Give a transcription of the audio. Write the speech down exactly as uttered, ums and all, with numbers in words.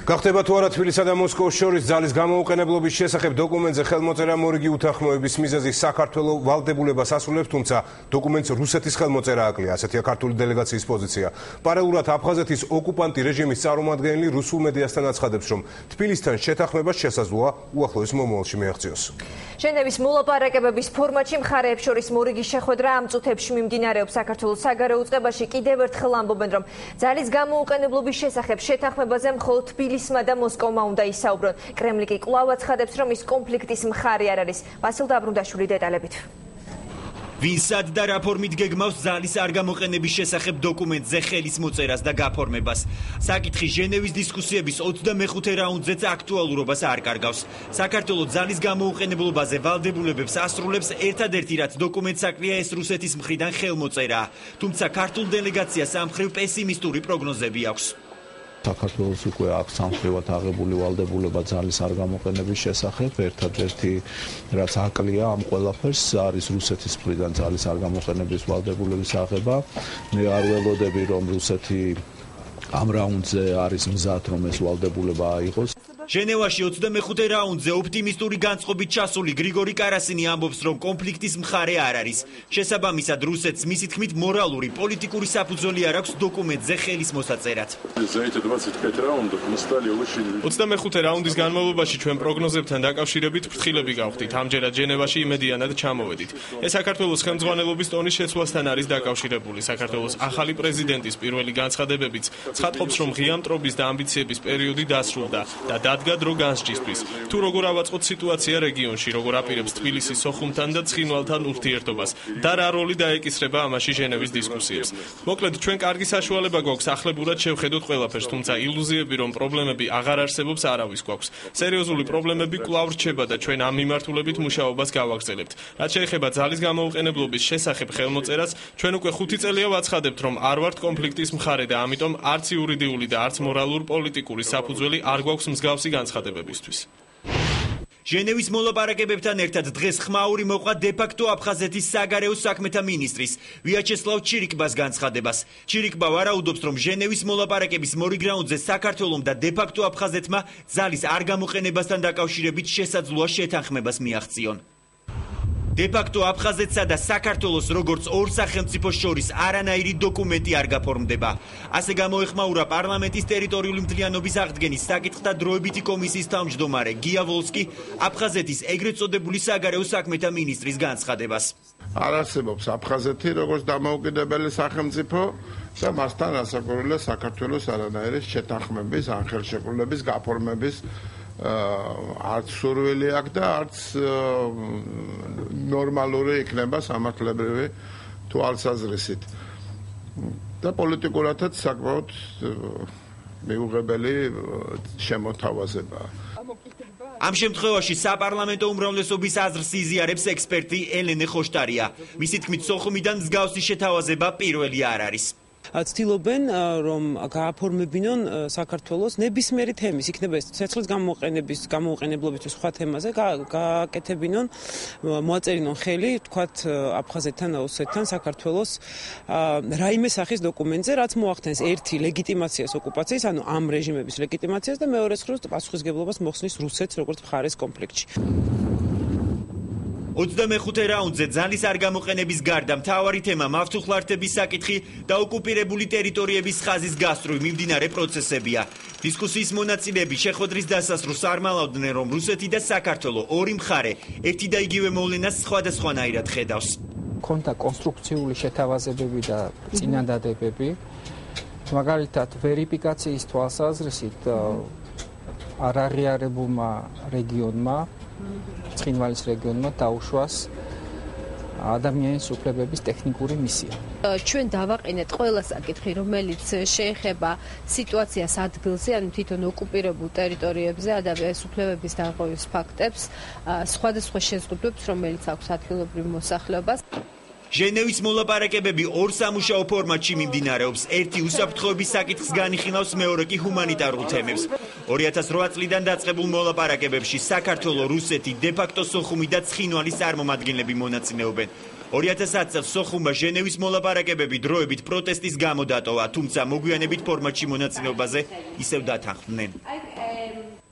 გახდება თუ არა თბილისსა და მოსკოვის შორის ძალის გამოუყენებლობის შესახებ დოკუმენტზე ხელმოწერა მორიგი უთანხმოების მიზეზი საქართველოს ვალდებულებას ასრულებს, თუმცა დოკუმენტს რუსეთის ხელმოწერა აკლია, ასეთია ქართული დელეგაციის პოზიცია. პარალელურად აფხაზეთის ოკუპანტი რეჟიმის წარმომადგენელი რუსულ მედიასთან აცხადებს, რომ თბილისთან შეთანხმება შესაძლოა უახლოეს მომავალში მიაღწიოს. ჟენევის მოლაპარაკებების ფორმატში მხარეებს შორის მორიგი შეხვედრა ამ წუთებში მიმდინარეობს. საქართველოს საგარეო უწყებაში კიდევ ერთხელ ამბობენ, რომ ძალის გამოუყენებლობის შესახებ შეთანხმებაზე მხოლოდ თბილისმა და მოსკოვმა უნდა ისაუბრონ. კრემლი კი კვლავ აცხადებს, რომ ის კონფლიქტის მხარე არ არის. ვასილ დაბრუნდაშვილი დეტალებით. ვინსად და რა ფორმით გეგმავს ძალის არ გამოყენების შესახებ დოკუმენტზე ხელის მოწერას და გაფორმებას. საკითხი ჟენევის დისკუსიების ოცდამეხუთე რაუნდზეც აქტუალურობას არ კარგავს. საქართველოს ძალის გამოუყენებლობაზე ვალდებულებებს ასრულებს ერთადერთი რაც დოკუმენტს აკლია ეს რუსეთის მხრიდან ხელმოწერაა. თუმცა ქართულ დელეგაციას ამ მხრივ პესიმისტური პროგნოზები აქვს. საქართველოს უკვე აქვს სამხრივად აღებული ვალდებულება ძალის არ გამოყენების შესახებ. ერთადერთი რაც აკლია ამ ყველაფერს არის რუსეთის მხრიდან ძალის არ გამოყენების ვალდებულების აღება. მე არ ველოდები რომ რუსეთი ამ რაუნდზე არის მზად რომ ეს ვალდებულება აიღოს. ჟენევაში ოცდამეხუთე რაუნდზე ოპტიმისტური განწყობით ჩასული გრიგორი კარასინი ამბობს, რომ კონფლიქტის მხარე არ არის. შესაბამისად, რუსეთს მისი თქმით მორალური, პოლიტიკური საფუძველი არ აქვს დოკუმენტზე ხელის მოსაწერად. ოცდამეხუთე რაუნდის განმავლობაში ჩვენ პროგნოზებთან დაკავშირებით ფრთხილები გავხდით. ამჯერად ჟენევაში იმედიანად ჩამოვედით. ეს საქართველოს ხელმძღვანელობის ტონის შეცვლასთან არის დაკავშირებული. საქართველოს ახალი პრეზიდენტის პირველი განცხადებებიც ცხადყოფს, რომ ღია მტრობის და ამბიციების პერიოდი დასრულდა და დადგა დრო განსჯისთვის. თუ როგორ ავაწყოთ სიტუაცია რეგიონში, როგორ აპირებს თბილისი სოხუმთან და ცხინვალთან ურთიერთობას და რა როლი დაეკისრება ამაში ჟენევის დისკუსიებს. მოკლედ, ჩვენ კარგი საშუალება გვაქვს ახლებურად შევხედოთ ყველაფერს, თუმცა ილუზიები, რომ პრობლემები აღარ არსებობს, არავის გვაქვს. სერიოზული პრობლემები კვლავ რჩება და ჩვენ ამ მიმართულებით მუშაობას გავაგრძელებთ. რაც შეეხება ძალის გამოუყენებლობის შესახებ ხელმოწერას, ჩვენ უკვე ხუთი წელია ვაცხადებთ, რომ არ ვართ კონფლიქტის მხარე და ამიტომ არც იურიდიული და არც მორალურ პოლიტიკური საფუძველი არ გვაქვს მსგავსი განცხადებებისთვის. ჟენევის მოლაპარაკებებთან ერთად დღეს ხმაური მოყვა დე-ფაქტო აფხაზეთის საგარეო საქმეთა მინისტრის ვიაჩესლავ ჩირიკბას განცხადებას. ჩირიკბა ვარაუდობს, რომ ჟენევის მოლაპარაკების მორიგ რაუნდზე საქართველომ და დე-ფაქტო აფხაზეთმა ძალის არ გამოყენებასთან დაკავშირებით შესაძლოა შეთანხმებას მიაღწიონ. დე-ფაქტო აფხაზეთსა და საქართველოს როგორც ორ სახელმწიფოს შორის არანაირი დოკუმენტი არ გაფორმდება. ასე გამოეხმაურა პარლამენტის ტერიტორიული მთლიანობის აღდგენის საკითხთა დროებითი კომისიის თავმჯდომარე გია ვოლსკი აფხაზეთის ეგრეთ წოდებული საგარეო საქმეთა მინისტრის განცხადებას. არ არსებობს აფხაზეთი როგორც დამოუკიდებელი სახელმწიფო და მასთან ასაკურვია საქართველოს არანაირი შეთანხმების ან ხელშეკრულების გაფორმების არც სურვილი აქვს და არც ნორმალური იქნება სამართლებრივი თვალსაზრისით. და პოლიტიკურადაც საკმაოდ მიუღებელი შემოთავაზებაა. ამ შემთხვევაში საპარლამენტო უმრავლესობის აზრს იზიარებს ექსპერტი ელენე ხოშტარია. მისი თქმით, სოხუმიდან მსგავსი შეთავაზება პირველი არ არის. ცდილობენ რომ გააფორმებინონ საქართველოს ნებისმიერი თემის, იქნება ეს ცეცხლის გამოყენების გამოუყენებლობისთვის სხვა თემაზე გააკეთებინონ, მოაწერინონ ხელი, თქვათ აფხაზეთთან, ოსეთთან საქართველოს რაიმე სახის დოკუმენტზე, რაც მოახდენს ერთი ლეგიტიმაციას ოკუპაციის, ანუ ამ რეჟიმების ლეგიტიმაციას და მეორე მხრივ პასუხისგებლობას მოხსნის რუსეთს როგორც მხარეს კონფლიქტში. ოცდამეხუთე რაუნდზე ძალის არ გამოყენების გარდა მთავარი თემა მავთუხლართების საკითხი და ოკუპირებული ტერიტორიების ხაზის გასწვრივ მიმდინარე პროცესებია. დისკუსიის მონაწილეები შეხვედრის დასასრულსარმალავდნენ, რომ რუსეთი და საქართველო ორი მხარე ერთი და იგივე მოვლენას სხვადასხვანაირად ხედავს. ქონდა კონსტრუქციული შეთავაზებები და წინადადებები. მაგალითად, ვერიფიკაციის თვალსაზრისით არ აღიარებულმა რეგიონმა ცხინვალის რეგიონმა დაუშვას ადამიანის უფლებების ტექნიკური მისია. ჩვენ დავაყენეთ ყველა საკითხი, რომელიც შეეხება სიტუაციას ადგილზე, ანუ თვითონ ოკუპირებულ ტერიტორიებზე, ადამიანის უფლებების დარღვევის ფაქტებს, სხვადასხვა შეზღუდვებს, რომელიც აქვს ადგილობრივ მოსახლეობას. ჟენევის მოლაპარაკებები ორ სამუშაო ფორმატში მიმდინარეობს. ერთი უსაფრთხოების საკითხს განიხილავს, მეორე კი ჰუმანიტარულ თემებს. ორი ათას რვა წლიდან დაწყებულ მოლაპარაკებებში საქართველო, რუსეთი, დე-ფაქტო სოხუმი და ცხინვალის წარმომადგენლები მონაწილეობენ. ორი ათას ათი წელს სოხუმმა ჟენევის მოლაპარაკებები დროებით პროტესტის გამო დატოვა, თუმცა მოგვიანებით ფორმატში მონაწილეობაზე ისევ დათანხმდნენ. um